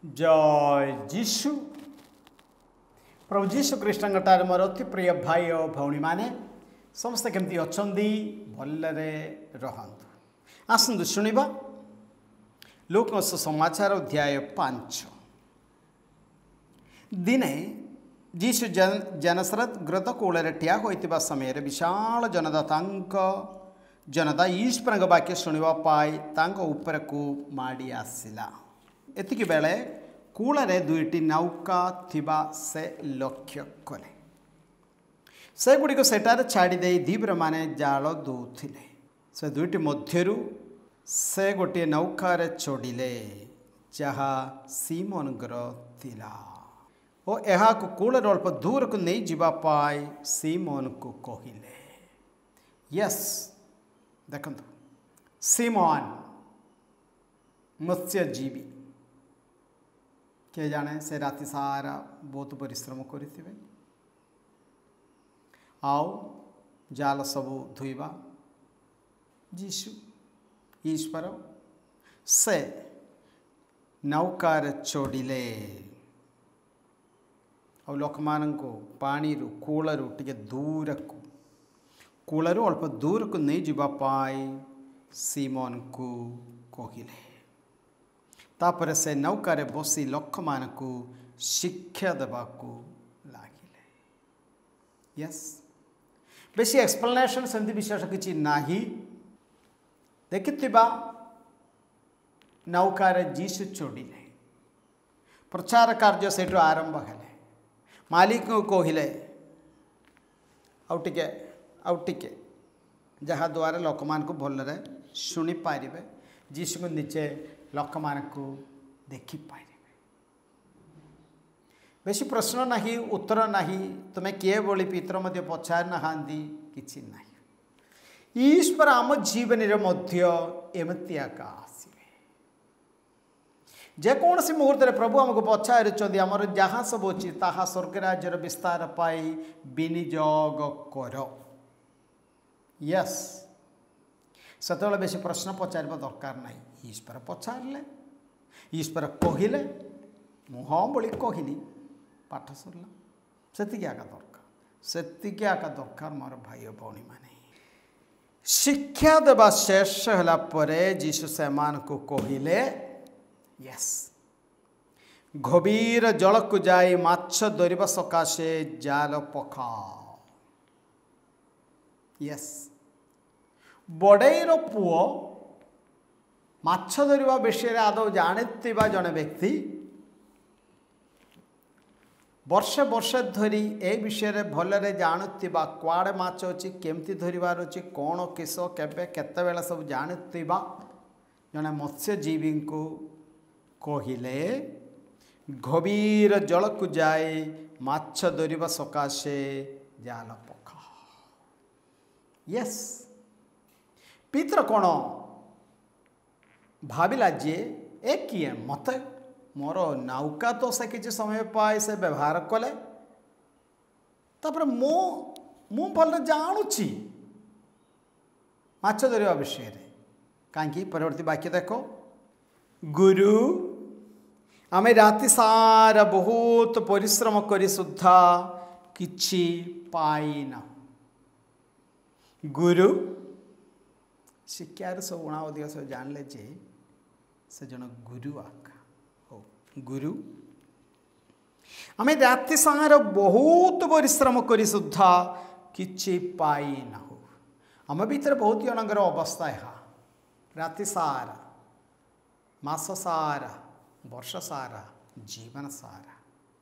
ଜୟ ଯୀଶୁ। ପ୍ରଭୁ ଯୀଶୁ ଖ୍ରୀଷ୍ଟଙ୍କ ଠାରେ ମୋର ଅତି ପ୍ରିୟ ଭାଇ ଓ ଭଉଣୀମାନେ, ସମସ୍ତେ କେମିତି ଅଛନ୍ତି? ଭଲରେ ରହନ୍ତୁ। ଆସନ୍ତୁ ଶୁଣିବା ଲୋକଙ୍କ ସମାଚାର ଅଧ୍ୟାୟ 5। ଦିନେ ଯୀଶୁ ଜେନସରତ ଗ୍ରତ କୂଳରେ ଠିଆ ହୋଇଥିବା ସମୟରେ ବିଶାଳ ଜନତା ଈଶ୍ୱରଙ୍କ ବାକ୍ୟ ଶୁଣିବା ପାଇଁ ତାଙ୍କ ଉପରକୁ ମାଡ଼ି ଆସିଲା। ଏତିକି ବେଳେ କୂଳରେ ଦୁଇଟି ନୌକା ଥିବା ସେ ଲକ୍ଷ୍ୟ କଲେ। ସେଗୁଡ଼ିକୁ ସେଠାରେ ଛାଡ଼ିଦେଇ ଧୀବରମାନେ ଜାଳ ଦେଉଥିଲେ। ସେ ଦୁଇଟି ମଧ୍ୟରୁ ସେ ଗୋଟିଏ ନୌକାରେ ଚଢ଼ିଲେ, ଯାହା ସିମୋନଙ୍କର ଥିଲା, ଓ ଏହାକୁ କୂଳରେ ଅଳ୍ପ ଦୂରକୁ ନେଇଯିବା ପାଇଁ ସିମୋନକୁ କହିଲେ। ୟେସ୍, ଦେଖନ୍ତୁ, ସିମୋନ ମତ୍ସ୍ୟଜୀବୀ, କିଏ ଜାଣେ ସେ ରାତି ସାରା ବହୁତ ପରିଶ୍ରମ କରିଥିବେ, ଆଉ ଜାଲ ସବୁ ଧୋଇବା। ଯୀଶୁ ଈଶ୍ୱର ସେ ନୌକାରେ ଚଢ଼ିଲେ ଆଉ ଲୋକମାନଙ୍କୁ ପାଣିରୁ କୂଳରୁ ଟିକେ ଦୂରକୁ, କୂଳରୁ ଅଳ୍ପ ଦୂରକୁ ନେଇଯିବା ପାଇଁ ସିମୋନକୁ କହିଲେ। ତାପରେ ସେ ନୌକାରେ ବସି ଲୋକମାନଙ୍କୁ ଶିକ୍ଷା ଦେବାକୁ ଲାଗିଲେ। ୟେସ୍, ବେଶୀ ଏକ୍ସପ୍ଲେନେସନ୍ ସେମିତି ବିଶେଷ କିଛି ନାହିଁ। ଦେଖିଥିବା ନୌକାରେ ଯୀଶୁ ଚଢ଼ିଲେ, ପ୍ରଚାର କାର୍ଯ୍ୟ ସେଇଠୁ ଆରମ୍ଭ ହେଲେ। ମାଲିକଙ୍କୁ କହିଲେ ଆଉ ଟିକେ, ଆଉ ଟିକେ, ଯାହାଦ୍ୱାରା ଲୋକମାନଙ୍କୁ ଭଲରେ ଶୁଣିପାରିବେ, ଯୀଶୁଙ୍କୁ ନିଜେ ଲୋକମାନଙ୍କୁ ଦେଖିପାରିବେ। ବେଶୀ ପ୍ରଶ୍ନ ନାହିଁ, ଉତ୍ତର ନାହିଁ, ତୁମେ କିଏ ବୋଲି ପିତର ମଧ୍ୟ ପଚାରି ନାହାନ୍ତି, କିଛି ନାହିଁ। ଈଶ୍ୱର ଆମ ଜୀବନରେ ମଧ୍ୟ ଏମିତି ଏକା ଆସିବେ। ଯେକୌଣସି ମୁହୂର୍ତ୍ତରେ ପ୍ରଭୁ ଆମକୁ ପଚାରୁଛନ୍ତି, ଆମର ଯାହା ସବୁ ଅଛି ତାହା ସ୍ୱର୍ଗ ରାଜ୍ୟର ବିସ୍ତାର ପାଇଁ ବିନିଯୋଗ କର। ୟେସ୍, ସେତେବେଳେ ବେଶୀ ପ୍ରଶ୍ନ ପଚାରିବା ଦରକାର ନାହିଁ। ଈଶ୍ୱର ପଚାରିଲେ, ଈଶ୍ୱର କହିଲେ, ମୁଁ ହଁ ବୋଲି କହିଲି, ପାଠ ସରିଲା। ସେତିକି ଏକା ଦରକାର, ସେତିକି ଏକା ଦରକାର ମୋର ଭାଇ ଓ ଭଉଣୀମାନେ। ଶିକ୍ଷା ଦେବା ଶେଷ ହେଲା ପରେ ଯୀଶୁ ସେମାନଙ୍କୁ କହିଲେ, ୟେସ୍, ଗଭୀର ଜଳକୁ ଯାଇ ମାଛ ଧରିବା ସକାଶେ ଜାଲ ପକାଅ। ୟେସ୍, ବଡ଼େଇର ପୁଅ ମାଛ ଧରିବା ବିଷୟରେ ଆଦୌ ଜାଣିଥିବା ଜଣେ ବ୍ୟକ୍ତି ବର୍ଷ ବର୍ଷ ଧରି ଏ ବିଷୟରେ ଭଲରେ ଜାଣୁଥିବା, କୁଆଡ଼େ ମାଛ ଅଛି, କେମିତି ଧରିବାର ଅଛି, କ'ଣ କିସ କେବେ କେତେବେଳେ ସବୁ ଜାଣୁଥିବା ଜଣେ ମତ୍ସ୍ୟଜୀବୀଙ୍କୁ କହିଲେ, ଗଭୀର ଜଳକୁ ଯାଇ ମାଛ ଧରିବା ସକାଶେ ଜାଲ ପକା। ୟେସ୍, ପିତର କ'ଣ ଭାବିଲା ଯେ ଏ କିଏ ମୋତେ, ମୋର ନୌକା ତ ସେ କିଛି ସମୟ ପାଇ ସେ ବ୍ୟବହାର କଲେ, ତାପରେ ମୁଁ ଭଲରେ ଜାଣୁଛି ମାଛ ଧରିବା ବିଷୟରେ। କାହିଁକି? ପରବର୍ତ୍ତୀ ବାକ୍ୟ ଦେଖ, ଗୁରୁ, ଆମେ ରାତି ସାରା ବହୁତ ପରିଶ୍ରମ କରି ସୁଦ୍ଧା କିଛି ପାଇନାହୁଁ। ଗୁରୁ ଶିକ୍ଷାର ସବୁ ଉଣା ଅଧିକ ସବୁ ଜାଣିଲେ ଯେ ସେ ଜଣେ ଗୁରୁ ଆକା। ହଉ ଗୁରୁ, ଆମେ ରାତି ସାରା ବହୁତ ପରିଶ୍ରମ କରି ସୁଦ୍ଧା କିଛି ପାଇନାହୁଁ। ଆମ ଭିତରେ ବହୁତ ଜଣଙ୍କର ଅବସ୍ଥା ଏହା, ରାତି ସାରା, ମାସ ସାରା, ବର୍ଷ ସାରା, ଜୀବନ ସାରା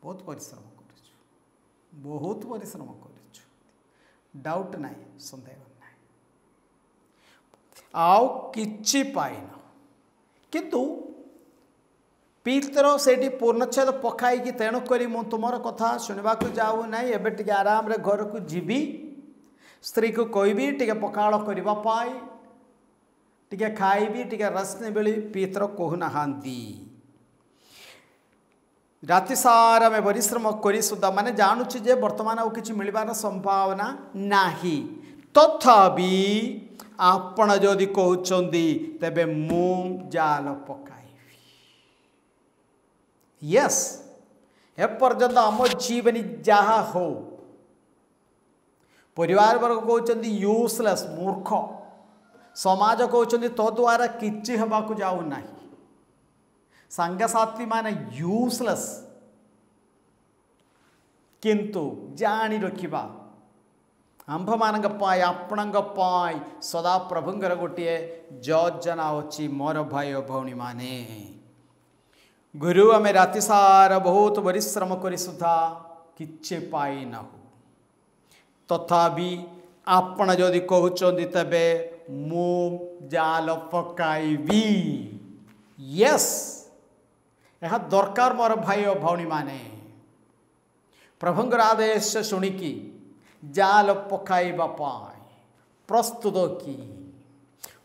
ବହୁତ ପରିଶ୍ରମ କରୁଛୁ, ବହୁତ ପରିଶ୍ରମ କରୁଛୁ, ଡାଉଟ୍ ନାହିଁ, ସନ୍ଦେହ ନାହିଁ, ଆଉ କିଛି ପାଇନ। କିନ୍ତୁ ପିତର ସେଇଠି ପୂର୍ଣ୍ଣଚ୍ଛେଦ ପକାଇକି, ତେଣୁକରି ମୁଁ ତୁମର କଥା ଶୁଣିବାକୁ ଯାଉନାହିଁ, ଏବେ ଟିକେ ଆରାମରେ ଘରକୁ ଯିବି, ସ୍ତ୍ରୀକୁ କହିବି ଟିକେ ପଖାଳ କରିବା ପାଇଁ, ଟିକେ ଖାଇବି, ଟିକେ ରେଷ୍ଟ ନେବି ବୋଲି ପିତର କହୁନାହାନ୍ତି। ରାତି ସାରା ଆମେ ପରିଶ୍ରମ କରି ସୁଦ୍ଧା, ମାନେ ଜାଣୁଛୁ ଯେ ବର୍ତ୍ତମାନ ଆଉ କିଛି ମିଳିବାର ସମ୍ଭାବନା ନାହିଁ, ତଥାପି ଆପଣ ଯଦି କହୁଛନ୍ତି ତେବେ ମୁଁ ଜାଲ ପକାଇବି। ୟେସ୍, ଏପର୍ଯ୍ୟନ୍ତ ଆମ ଜୀବନୀ ଯାହା ହଉ, ପରିବାର ବର୍ଗ କହୁଛନ୍ତି ୟୁଜଲେସ୍, ମୂର୍ଖ, ସମାଜ କହୁଛନ୍ତି ତୋ ଦ୍ୱାରା କିଛି ହେବାକୁ ଯାଉନାହିଁ, ସାଙ୍ଗସାଥିମାନେ ୟୁଜଲେସ୍, କିନ୍ତୁ ଜାଣି ରଖିବା ଆମ୍ଭମାନଙ୍କ ପାଇଁ, ଆପଣଙ୍କ ପାଇଁ ସଦାପ୍ରଭୁଙ୍କର ଗୋଟିଏ ଯୋଜନା ଅଛି। ମୋର ଭାଇ ଓ ଭଉଣୀମାନେ, ଗୁରୁ ଆମେ ରାତି ସାରା ବହୁତ ପରିଶ୍ରମ କରି ସୁଦ୍ଧା କିଛି ପାଇନାହୁଁ, ତଥାପି ଆପଣ ଯଦି କହୁଛନ୍ତି ତେବେ ମୁଁ ଜାଲ ପକାଇବି। ୟେସ୍, ଏହା ଦରକାର ମୋର ଭାଇ ଓ ଭଉଣୀମାନେ। ପ୍ରଭୁଙ୍କର ଆଦେଶ ଶୁଣିକି ଜାଲ ପକାଇବା ପାଇଁ ପ୍ରସ୍ତୁତ କି?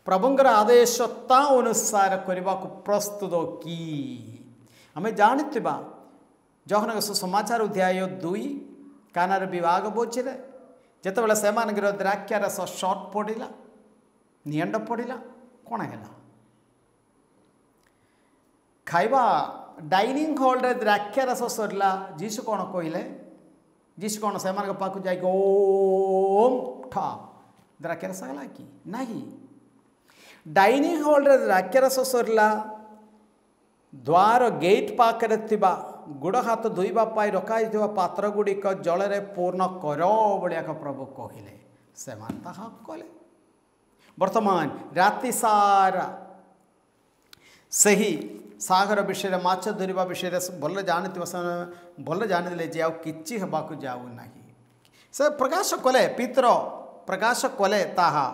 ପ୍ରଭୁଙ୍କର ଆଦେଶ ତା ଅନୁସାର କରିବାକୁ ପ୍ରସ୍ତୁତ କି? ଆମେ ଜାଣିଥିବା ଯୋହନଙ୍କ ସୁସମାଚାର ଅଧ୍ୟାୟ 2 କାନାର ବିଭାଗ ଭୋଜିରେ ଯେତେବେଳେ ସେମାନଙ୍କର ଦ୍ରାକ୍ଷାରସ ସର୍ଟ ପଡ଼ିଲା, ନିଅଣ୍ଟ ପଡ଼ିଲା, କ'ଣ ହେଲା? ଖାଇବା ଡାଇନିଂ ହଲ୍ରେ ଦ୍ରାକ୍ଷାରସ ସରିଲା। ଯୀଶୁ କ'ଣ କହିଲେ? ଯୀଶୁ କ'ଣ ସେମାନଙ୍କ ପାଖକୁ ଯାଇକି ଓମ୍ ଠା ଦ୍ରାକ୍ଷାରସ ହେଲା କି? ନାହିଁ। ଡାଇନିଂ ହଲ୍ରେ ଦ୍ରାକ୍ଷାରସ ସରିଲା, ଦ୍ୱାର ଗେଟ୍ ପାଖରେ ଥିବା ଗୋଡ଼ ହାତ ଧୋଇବା ପାଇଁ ରଖାଯାଇଥିବା ପାତ୍ର ଗୁଡ଼ିକ ଜଳରେ ପୂର୍ଣ୍ଣ କର ଭଳିଆକ ପ୍ରଭୁ କହିଲେ। ସେମାନେ ତାହା କଲେ। ବର୍ତ୍ତମାନ ରାତି ସାରା ସେହି ସାଗର ବିଷୟରେ, ମାଛ ଧରିବା ବିଷୟରେ ଭଲ ଜାଣିଥିବା ସେମାନେ ଭଲ ଜାଣିଥିଲେ ଯେ ଆଉ କିଛି ହେବାକୁ ଯାଉନାହିଁ। ସେ ପ୍ରକାଶ କଲେ, ପିତ୍ର ପ୍ରକାଶ କଲେ ତାହା,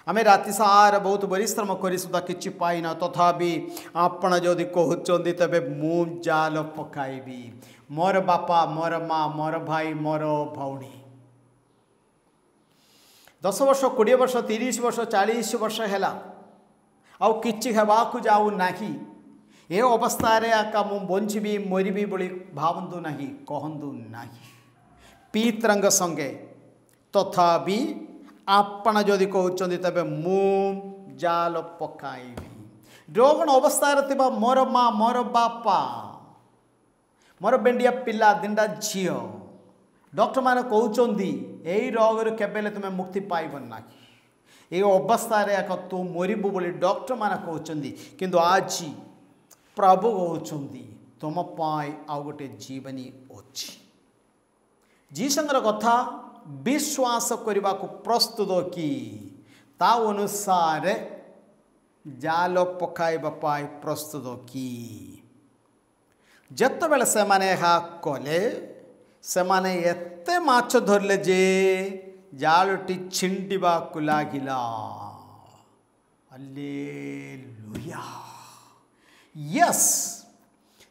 ଆମେ ରାତି ସାରା ବହୁତ ପରିଶ୍ରମ କରି ସୁଦ୍ଧା କିଛି ପାଇନା, ତଥାପି ଆପଣ ଯଦି କହୁଛନ୍ତି ତେବେ ମୁଁ ଜାଲ ପକାଇବି। ମୋର ବାପା, ମୋର ମା, ମୋର ଭାଇ, ମୋର ଭଉଣୀ, 10 ବର୍ଷ, 20 ବର୍ଷ, 30 ବର୍ଷ, 40 ବର୍ଷ ହେଲା, ଆଉ କିଛି ହେବାକୁ ଯାଉନାହିଁ, ଏ ଅବସ୍ଥାରେ ଏକା ମୁଁ ବଞ୍ଚିବି ମରିବି ବୋଲି ଭାବନ୍ତୁ ନାହିଁ, କହନ୍ତୁ ନାହିଁ ପିତ୍ରଙ୍କ ସଙ୍ଗେ। ତଥାପି ଆପଣ ଯଦି କହୁଛନ୍ତି ତେବେ ମୁଁ ଜାଲ ପକାଇବି। ରୋଗଣ ଅବସ୍ଥାରେ ଥିବା ମୋର ମା, ମୋର ବାପା, ମୋର ବେଣ୍ଡିଆ ପିଲା, ଦିଣ୍ଡା ଝିଅ, ଡକ୍ଟରମାନେ କହୁଛନ୍ତି ଏଇ ରୋଗରୁ କେବେ ହେଲେ ତୁମେ ମୁକ୍ତି ପାଇବ ନାହିଁ, ଏଇ ଅବସ୍ଥାରେ ଏକ ତୁ ମରିବୁ ବୋଲି ଡକ୍ଟରମାନେ କହୁଛନ୍ତି, କିନ୍ତୁ ଆଜି ପ୍ରଭୁ କହୁଛନ୍ତି ତୁମ ପାଇଁ ଆଉ ଗୋଟେ ଜୀବନୀ ଅଛି। ଯୀଶୁଙ୍କର କଥା ବିଶ୍ୱାସ କରିବାକୁ ପ୍ରସ୍ତୁତ କି? ତା ଅନୁସାରେ ଜାଲ ପକାଇବା ପାଇଁ ପ୍ରସ୍ତୁତ କି? ଯେତେବେଳେ ସେମାନେ ଏହା କଲେ, ସେମାନେ ଏତେ ମାଛ ଧରିଲେ ଯେ ଜାଲଟି ଛିଣ୍ଡିବାକୁ ଲାଗିଲା। ହାଲେଲୁୟା। ୟେସ୍,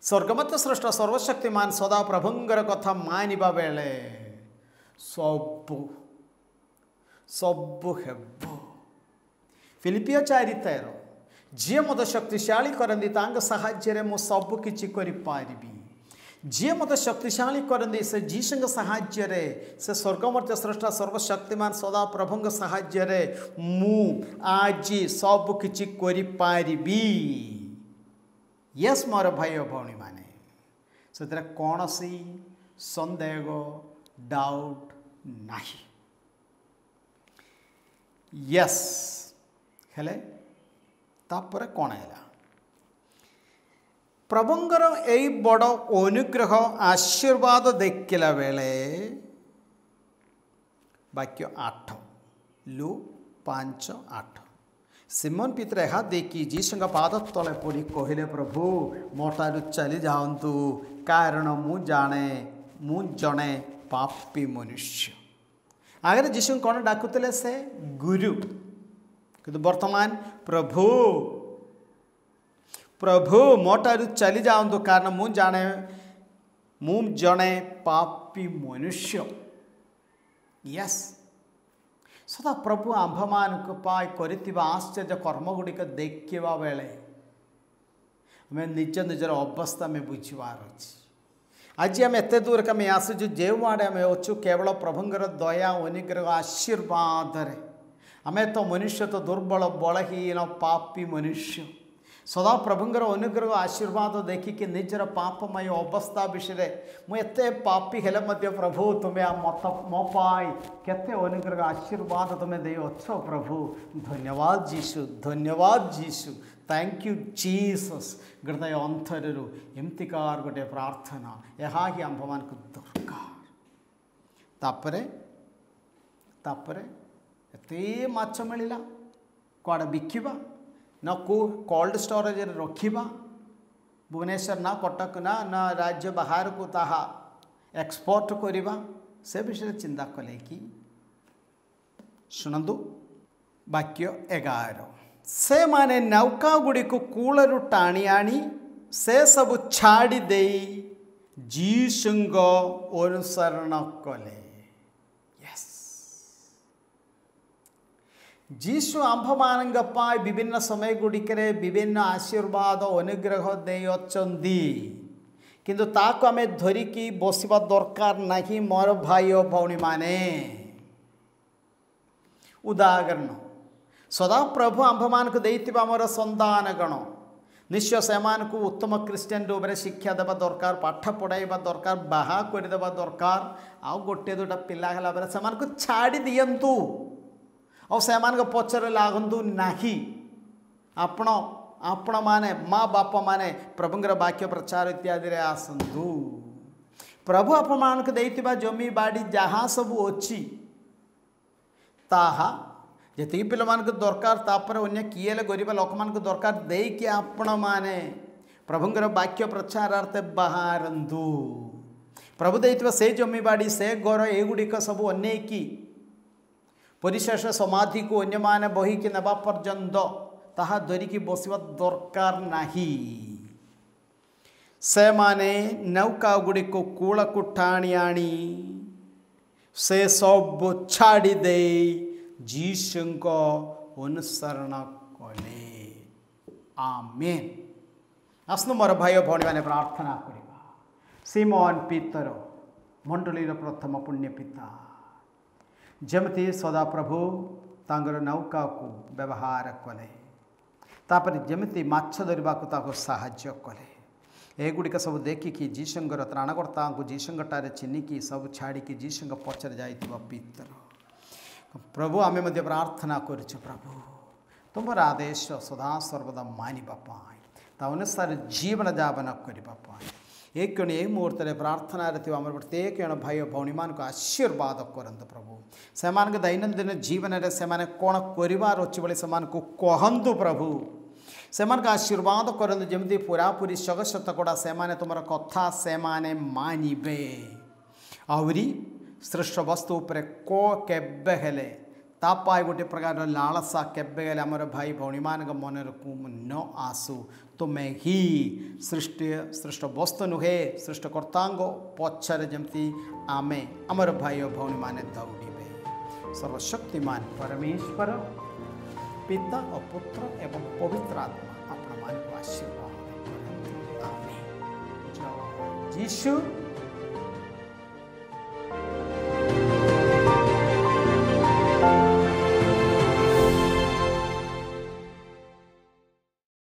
ସ୍ୱର୍ଗମଧ୍ୟ ସ୍ରଷ୍ଟା ସର୍ବଶକ୍ତିମାନ ସଦାପ୍ରଭୁଙ୍କର କଥା ମାନିବା ବେଳେ ସବୁ ସବୁ ହେବ। ଫିଲିପିଓ 4:13, ଯିଏ ମୋତେ ଶକ୍ତିଶାଳୀ କରନ୍ତି ତାଙ୍କ ସାହାଯ୍ୟରେ ମୁଁ ସବୁ କିଛି କରିପାରିବି। ଯିଏ ମୋତେ ଶକ୍ତିଶାଳୀ କରନ୍ତି ସେ ଯୀଶୁଙ୍କ ସାହାଯ୍ୟରେ, ସେ ସ୍ୱର୍ଗମଧ୍ୟ ସ୍ରଷ୍ଟା ସର୍ବଶକ୍ତିମାନ ସଦାପ୍ରଭୁଙ୍କ ସାହାଯ୍ୟରେ ମୁଁ ଆଜି ସବୁ କିଛି କରିପାରିବି। ୟେସ୍ ମୋର ଭାଇ ଓ ଭଉଣୀମାନେ, ସେଥିରେ କୌଣସି ସନ୍ଦେହ ଡାଉଟ୍ ନାହିଁ। ୟେସ୍, ହେଲେ ତାପରେ କ'ଣ ହେଲା? ପ୍ରଭୁଙ୍କର ଏଇ ବଡ଼ ଅନୁଗ୍ରହ ଆଶୀର୍ବାଦ ଦେଖିଲା ବେଳେ ବାକ୍ୟ 8, ଲୁ 5:8, ସିମନ ପିତ୍ର ଏହା ଦେଖି ଯୀଶୁଙ୍କ ପାଦ ତଳେ ପଡ଼ି କହିଲେ, ପ୍ରଭୁ ମୋ ଠାରୁ ଚାଲି ଯାଆନ୍ତୁ, କାରଣ ମୁଁ ଜାଣେ ମୁଁ ଜଣେ ପାପୀ ମନୁଷ୍ୟ। ଆଗରେ ଯୀଶୁଙ୍କୁ କ'ଣ ଡାକୁଥିଲେ? ସେ ଗୁରୁ, କିନ୍ତୁ ବର୍ତ୍ତମାନ ପ୍ରଭୁ, ପ୍ରଭୁ ମୋ ଠାରୁ ଚାଲି ଯାଆନ୍ତୁ, କାରଣ ମୁଁ ଜାଣେ ମୁଁ ଜଣେ ପାପୀ ମନୁଷ୍ୟ। ୟେସ୍, ସଦା ପ୍ରଭୁ ଆମ୍ଭମାନଙ୍କ ପାଇଁ କରିଥିବା ଆଶ୍ଚର୍ଯ୍ୟ କର୍ମ ଗୁଡ଼ିକ ଦେଖିବା ବେଳେ ଆମେ ନିଜ ନିଜର ଅବସ୍ଥା ଆମେ ବୁଝିବାର ଅଛି। ଆଜି ଆମେ ଏତେ ଦୂରକୁ ଆମେ ଆସିଛୁ, ଯେଉଁଆଡ଼େ ଆମେ ଅଛୁ କେବଳ ପ୍ରଭୁଙ୍କର ଦୟା ଅନୁଗ୍ରହ ଆଶୀର୍ବାଦରେ। ଆମେ ତ ମନୁଷ୍ୟ ତ ଦୁର୍ବଳ, ବଳହୀନ, ପାପୀ ମନୁଷ୍ୟ। ସଦାପ୍ରଭୁଙ୍କର ଅନୁଗ୍ରହ ଆଶୀର୍ବାଦ ଦେଖିକି ନିଜର ପାପମୟ ଅବସ୍ଥା ବିଷୟରେ, ମୁଁ ଏତେ ପାପୀ ହେଲେ ମଧ୍ୟ ପ୍ରଭୁ ତୁମେ ମତ ମୋ ପାଇଁ କେତେ ଅନୁଗ୍ରହ ଆଶୀର୍ବାଦ ତୁମେ ଦେଇଅଛ ପ୍ରଭୁ, ଧନ୍ୟବାଦ ଯୀଶୁ, ଧନ୍ୟବାଦ ଯୀଶୁ, thank you Jesus. ହୃଦୟ ଅନ୍ତରରୁ ଏମିତିକାର ଗୋଟେ ପ୍ରାର୍ଥନା, ଏହା ହିଁ ଆମ୍ଭମାନଙ୍କୁ ଦରକାର। ତାପରେ ତାପରେ ଏତେ ମାଛ ମିଳିଲା, କୁଆଡ଼େ ବିକିବା ନା କେଉଁ କୋଲ୍ଡ ଷ୍ଟୋରେଜରେ ରଖିବା, ଭୁବନେଶ୍ୱର ନା କଟକ ନା ନା ରାଜ୍ୟ ବାହାରକୁ ତାହା ଏକ୍ସପୋର୍ଟ କରିବା, ସେ ବିଷୟରେ ଚିନ୍ତା କଲେ କି? ଶୁଣନ୍ତୁ ବାକ୍ୟ 11, ସେମାନେ ନୌକା ଗୁଡ଼ିକୁ କୂଳରୁ ଟାଣି ଆଣି ସେସବୁ ଛାଡ଼ି ଦେଇ ଯୀଶୁଙ୍କ ଅନୁସରଣ କଲେ। ଯୀଶୁ ଆମ୍ଭମାନଙ୍କ ପାଇଁ ବିଭିନ୍ନ ସମୟ ଗୁଡ଼ିକରେ ବିଭିନ୍ନ ଆଶୀର୍ବାଦ ଅନୁଗ୍ରହ ଦେଇଅଛନ୍ତି, କିନ୍ତୁ ତାକୁ ଆମେ ଧରିକି ବସିବା ଦରକାର ନାହିଁ ମୋର ଭାଇ ଓ ଭଉଣୀମାନେ। ଉଦାହରଣ, ସଦାପ୍ରଭୁ ଆମ୍ଭମାନଙ୍କୁ ଦେଇଥିବା ଆମର ସନ୍ତାନଗଣ, ନିଶ୍ଚୟ ସେମାନଙ୍କୁ ଉତ୍ତମ ଖ୍ରୀଷ୍ଟିଆନ ରୂପରେ ଶିକ୍ଷା ଦେବା ଦରକାର, ପାଠ ପଢ଼ାଇବା ଦରକାର, ବାହା କରିଦେବା ଦରକାର। ଆଉ ଗୋଟେ ଦୁଇଟା ପିଲା ହେଲା ପରେ ସେମାନଙ୍କୁ ଛାଡ଼ି ଦିଅନ୍ତୁ, ଆଉ ସେମାନଙ୍କ ପଛରେ ଲାଗନ୍ତୁ ନାହିଁ। ଆପଣ ଆପଣମାନେ ମା ବାପାମାନେ ପ୍ରଭୁଙ୍କର ବାକ୍ୟ ପ୍ରଚାର ଇତ୍ୟାଦିରେ ଆସନ୍ତୁ। ପ୍ରଭୁ ଆପଣମାନଙ୍କୁ ଦେଇଥିବା ଜମି ବାଡ଼ି ଯାହା ସବୁ ଅଛି ତାହା ଯେତିକି ପିଲାମାନଙ୍କୁ ଦରକାର, ତାପରେ ଅନ୍ୟ କିଏ ହେଲେ ଗରିବ ଲୋକମାନଙ୍କୁ ଦରକାର ଦେଇକି ଆପଣମାନେ ପ୍ରଭୁଙ୍କର ବାକ୍ୟ ପ୍ରଚାରାର୍ଥେ ବାହାରନ୍ତୁ। ପ୍ରଭୁ ଦେଇଥିବା ସେ ଜମି ବାଡ଼ି, ସେ ଘର, ଏଗୁଡ଼ିକ ସବୁ ଅନେଇକି ପରିଶେଷ ସମାଧିକୁ ଅନ୍ୟମାନେ ବହିକି ନେବା ପର୍ଯ୍ୟନ୍ତ ତାହା ଧରିକି ବସିବା ଦରକାର ନାହିଁ। ସେମାନେ ନୌକା ଗୁଡ଼ିକୁ କୂଳକୁ ଟାଣି ଆଣି ସେ ସବୁ ଛାଡ଼ି ଦେଇ ଯୀଶୁଙ୍କ ଅନୁସରଣ କଲେ। ଆମେନ୍। ଆସନ୍ତୁ ମୋର ଭାଇ ଓ ଭଉଣୀମାନେ ପ୍ରାର୍ଥନା କରିବା। ସିମନ ପିତର, ମଣ୍ଡଳୀର ପ୍ରଥମ ପୁଣ୍ୟ ପିତା, ଯେମିତି ସଦାପ୍ରଭୁ ତାଙ୍କର ନୌକାକୁ ବ୍ୟବହାର କଲେ, ତାପରେ ଯେମିତି ମାଛ ଧରିବାକୁ ତାକୁ ସାହାଯ୍ୟ କଲେ, ଏଗୁଡ଼ିକ ସବୁ ଦେଖିକି ଯୀଶୁଙ୍କର ତ୍ରାଣକର୍ତ୍ତାଙ୍କୁ ଯୀଶୁଙ୍କଠାରେ ଚିହ୍ନିକି ସବୁ ଛାଡ଼ିକି ଯୀଶୁଙ୍କ ପଛରେ ଯାଇଥିବା ପିତର, ପ୍ରଭୁ ଆମେ ମଧ୍ୟ ପ୍ରାର୍ଥନା କରୁଛୁ ପ୍ରଭୁ ତୁମର ଆଦେଶ ସଦାସର୍ବଦା ମାନିବା ପାଇଁ, ତା ଅନୁସାରେ ଜୀବନଯାପନ କରିବା ପାଇଁ। ଏ କ୍ଷଣି ଏହି ମୁହୂର୍ତ୍ତରେ ପ୍ରାର୍ଥନାରେ ଥିବା ଆମର ପ୍ରତ୍ୟେକ ଜଣ ଭାଇ ଓ ଭଉଣୀମାନଙ୍କୁ ଆଶୀର୍ବାଦ କରନ୍ତୁ ପ୍ରଭୁ। ସେମାନଙ୍କ ଦୈନନ୍ଦିନ ଜୀବନରେ ସେମାନେ କ'ଣ କରିବାର ଅଛି ବୋଲି ସେମାନଙ୍କୁ କହନ୍ତୁ ପ୍ରଭୁ। ସେମାନଙ୍କୁ ଆଶୀର୍ବାଦ କରନ୍ତୁ ଯେମିତି ପୁରାପୁରି ଶତକଡ଼ା ସେମାନେ ତୁମର କଥା ସେମାନେ ମାନିବେ। ଆହୁରି ସୃଷ୍ଟ ବସ୍ତୁ ଉପରେ କେବେ ହେଲେ ତା ପାଇଁ ଗୋଟେ ପ୍ରକାରର ଲାଳସା କେବେ ହେଲେ ଆମର ଭାଇ ଭଉଣୀମାନଙ୍କ ମନରେ ନ ଆସୁ। ତୁମେ ହିଁ ସୃଷ୍ଟି ସୃଷ୍ଟ ବସ୍ତୁ ନୁହେଁ, ସୃଷ୍ଟକର୍ତ୍ତାଙ୍କ ପଛରେ ଯେମିତି ଆମେ ଆମର ଭାଇ ଓ ଭଉଣୀମାନେ ଦୌଡ଼ିବେ। ସର୍ବଶକ୍ତିମାନ ପରମେଶ୍ୱର ପିତା ଓ ପୁତ୍ର ଏବଂ ପବିତ୍ର ଆତ୍ମା ଆପଣମାନଙ୍କୁ ଆଶୀର୍ବାଦ କରନ୍ତୁ। ଆମେନ୍। ଜୟ ଯୀଶୁ।